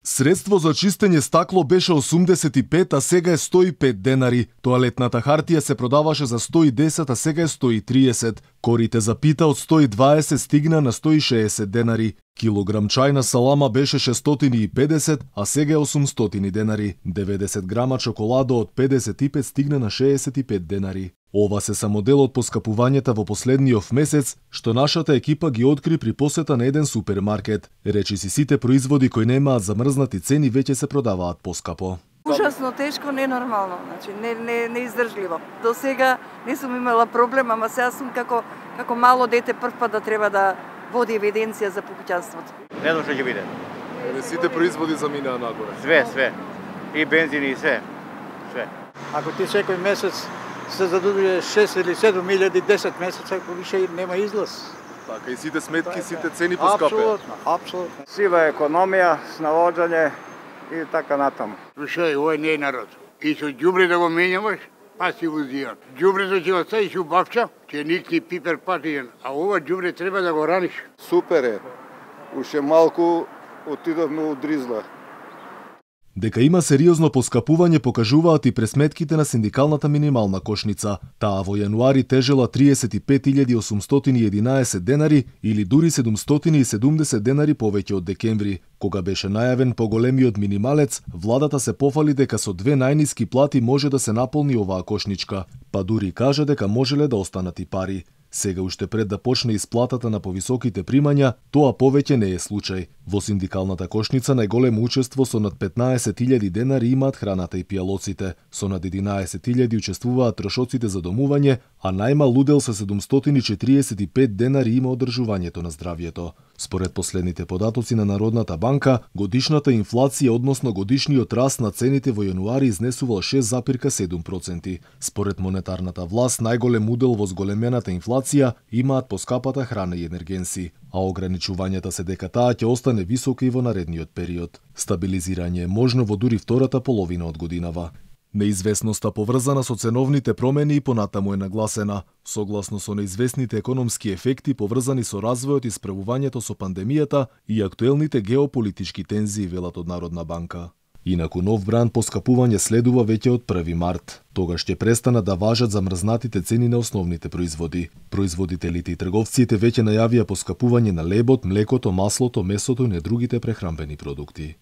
Средство за чистење стакло беше 85, а сега е 105 денари. Тоалетната хартија се продаваше за 110, а сега е 130. Корите за пита од 120 стигна на 160 денари. Килограм чајна салама беше 650, а сега е 800 денари. 90 грама чоколада од 55 стигна на 65 денари. Ова се само дел од поскапувањата во последниот месец, што нашата екипа ги откри при посета на еден супермаркет. Речиси сите производи кои немаат замрзнати цени веќе се продаваат поскапо. Ужасно тешко, ненормално, значи неиздржливо. До сега не сум имала проблем, ама сега сум како мало дете прв пат да треба да води евиденција за покуќанството. Не знам што ќе биде. Сите производи заминаа нагоре. Све. И бензини и све. Ако ти секој месец се задудuje 6 или 7 илјади 10 месеца, ако више нема излаз. Така и сите сметки, сите цени поскапе. Апсолутно. Сива економија, снаоѓање и така натаму. Слушај, овој не е народ. И со ѓубре да го менјаваш, па си го зија. Ѓубрето ќе го ставиш у бавча, ќе никни пипер патиен, а ова ѓубре треба да го раниш. Супер е. Уште малку отидовме у Дризла. Дека има сериозно поскапување покажуваат и пресметките на синдикалната минимална кошница. Таа во јануари тежела 35.811 денари или дури 770 денари повеќе од декември. Кога беше најавен поголемиот минималец, владата се пофали дека со две најниски плати може да се наполни оваа кошничка, па дури кажа дека можеле да останат и пари. Сега уште пред да почне исплатата на повисоките примања, тоа повеќе не е случај. Во синдикалната кошница најголемо учество со над 15.000 денари имаат храната и пијалоците, со над 11.000 учествуваат трошоците за домување, а најмал удел со 745 денари има одржувањето на здравјето. Според последните податоци на Народната банка, годишната инфлација, односно годишниот раст на цените во јануари изнесувал 6,7%. Според монетарната власт, најголем удел во зголемената инфлација имаат поскапата храна и енергенси, а ограничувањата се дека таа ќе остане висока и во наредниот период. Стабилизирање е можно во дури втората половина од годинава. Неизвестноста поврзана со ценовните промени и понатаму е нагласена, согласно со неизвестните економски ефекти поврзани со развојот и справувањето со пандемијата и актуелните геополитички тензии, велат од Народна банка. Инаку нов бранд поскапување следува веќе од 1 март. Тогаш ќе престанат да важат замрзнатите цени на основните производи. Производителите и трговците веќе најавија поскапување на лебот, млекото, маслото, месото и на другите прехранбени продукти.